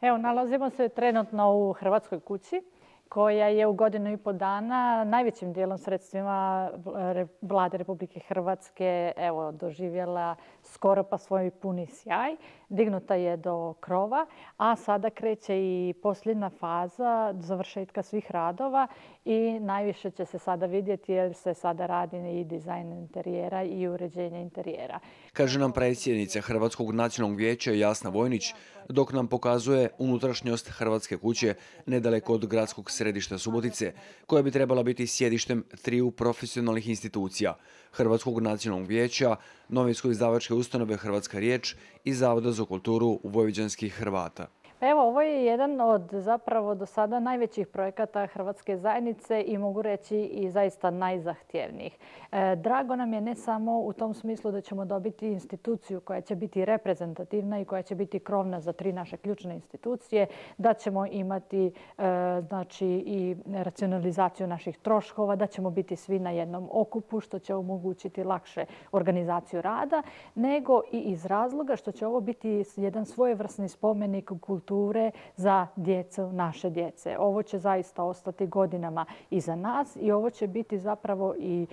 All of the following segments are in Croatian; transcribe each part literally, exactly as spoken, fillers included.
Evo, nalazimo se trenutno u Hrvatskoj kući koja je u godinu i po dana najvećim dijelom sredstvima Vlade Republike Hrvatske evo, doživjela skoro pa svoj puni sjaj. Dignuta je do krova, a sada kreće i posljedna faza završetka svih radova i najviše će se sada vidjeti jer se sada radi i dizajn interijera i uređenje interijera. Kaže nam predsjednica Hrvatskog nacionalnog vijeća Jasna Vojnić, dok nam pokazuje unutrašnjost Hrvatske kuće nedaleko od gradskog središta Subotice, koja bi trebala biti sjedištem triju profesionalnih institucija: Hrvatskog nacionalnog vijeća, novinsko-izdavačke ustanove Hrvatska riječ i Zavoda za kulturu vojvođanskih Hrvata. Evo, ovo je jedan od zapravo do sada najvećih projekata Hrvatske zajednice i mogu reći i zaista najzahtjevnijih. E, drago nam je ne samo u tom smislu da ćemo dobiti instituciju koja će biti reprezentativna i koja će biti krovna za tri naše ključne institucije, da ćemo imati e, znači, i racionalizaciju naših troškova, da ćemo biti svi na jednom okupu što će omogućiti lakše organizaciju rada, nego i iz razloga što će ovo biti jedan svojevrsni spomenik kulture za djecu, naše djece. Ovo će zaista ostati godinama iza nas i ovo će biti zapravo i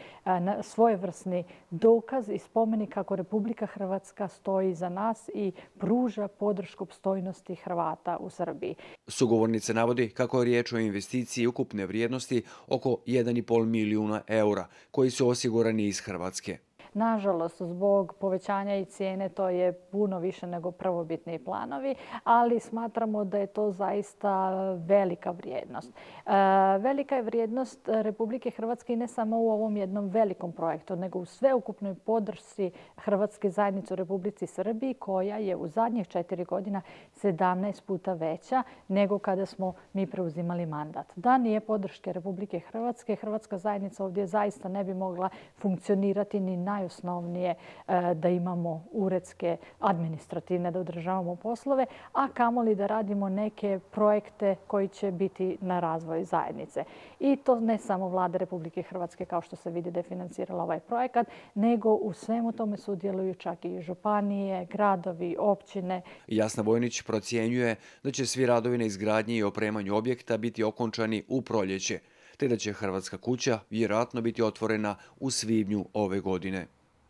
svojevrsni dokaz i spomenik kako Republika Hrvatska stoji iza nas i pruža podršku opstojnosti Hrvata u Srbiji. Sugovornica navodi kako je riječ o investiciji ukupne vrijednosti oko jedan i pol milijuna eura koji su osigurani iz Hrvatske. Nažalost, zbog povećanja i cijene to je puno više nego prvobitni planovi, ali smatramo da je to zaista velika vrijednost. E, velika je vrijednost Republike Hrvatske i ne samo u ovom jednom velikom projektu, nego u sveukupnoj podršci Hrvatske zajednice u Republici Srbiji, koja je u zadnjih četiri godina sedamnaest puta veća nego kada smo mi preuzimali mandat. Da nije podrške Republike Hrvatske, Hrvatska zajednica ovdje zaista ne bi mogla funkcionirati ni na najosnovnije da imamo uredske, administrativne, da održavamo poslove, a kamoli da radimo neke projekte koji će biti na razvoj zajednice. I to ne samo Vlada Republike Hrvatske, kao što se vidi da je financirala ovaj projekat, nego u svemu tome sudjeluju čak i županije, gradovi, općine. Jasna Vojnić procjenjuje da će svi radovi na izgradnji i opremanju objekta biti okončani u proljeće, te da će Hrvatska kuća vjerojatno biti otvorena u svibnju ove godine.